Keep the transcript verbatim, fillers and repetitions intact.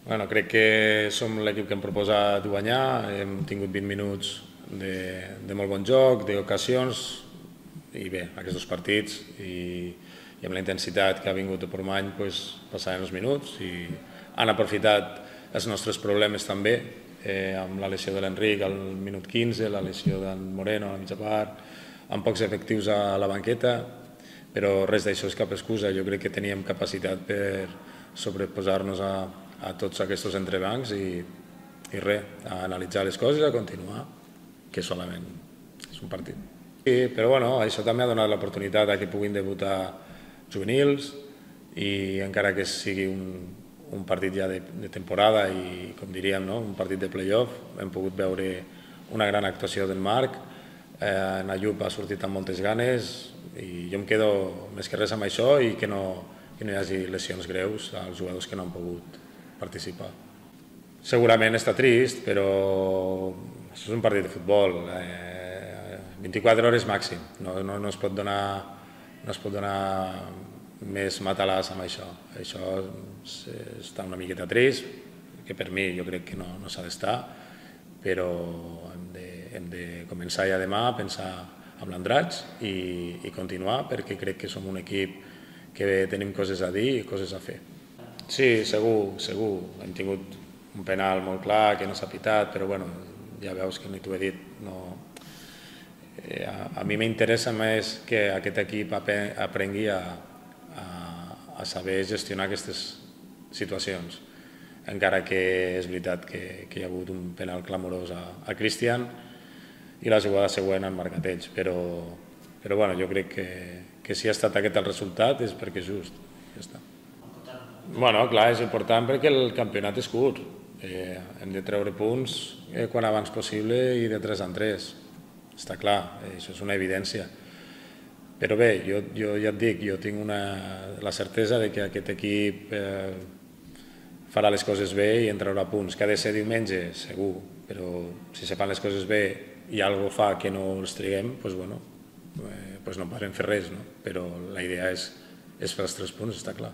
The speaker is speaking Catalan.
Bueno, crec que som l'equip que hem proposat guanyar, hem tingut vint minuts de, de molt bon joc, d'ocasions, i bé, aquests dos partits, i, i amb la intensitat que ha vingut de Portmany, pues, passaven els minuts i han aprofitat els nostres problemes també, eh, amb la lesió de l'Enric al minut quinze, la lesió d'en Moreno a la mitja part, amb pocs efectius a la banqueta, però res d'això és cap excusa. Jo crec que teníem capacitat per sobreposar-nos a, a tots aquests entrebancs i, i res, a analitzar les coses i a continuar, que solament és un partit. Sí, però bueno, això també ha donat l'oportunitat a que puguin debutar juvenils i encara que sigui un, un partit ja de, de temporada i, com diríem, no? Un partit de play-off, hem pogut veure una gran actuació del Marc, eh, en Ayub ha sortit amb moltes ganes i jo em quedo més que res amb això i que no, que no hi hagi lesions greus als jugadors que no han pogut participar. Segurament està trist, però això és un partit de futbol, eh, vint-i-quatre hores màxim, no, no, no es pot donar, no es pot donar més matalàs amb això. Això està una miqueta trist, que per mi jo crec que no, no s'ha d'estar, però hem de, hem de començar ja demà a pensar amb l'Andratx i, i continuar, perquè crec que som un equip que tenim coses a dir i coses a fer. Sí, segur, segur. Hem tingut un penal molt clar que no s'ha pitat, però bueno, ja veus que ni t'ho he dit. No. Eh, a, a mi m'interessa més que aquest equip aprengui a, a, a saber gestionar aquestes situacions, encara que és veritat que, que hi ha hagut un penal clamorós a, a Cristian i la jugada següent han marcat ells, però, però bueno, jo crec que, que si ha estat aquest el resultat és perquè és just. Ja està. Bueno, clar, és important perquè el campionat és curt. Eh, hem de treure punts eh, quan abans possible i de tres en tres. Està clar, eh, això és una evidència. Però bé, jo, jo ja et dic, jo tinc una, la certesa de que aquest equip eh, farà les coses bé i en traurà punts. Que ha de ser diumenge, segur, però si se fan les coses bé i alguna cosa fa que no els triguem, doncs bueno, eh, doncs no podrem fer res, no? Però la idea és, és fer els tres punts, està clar.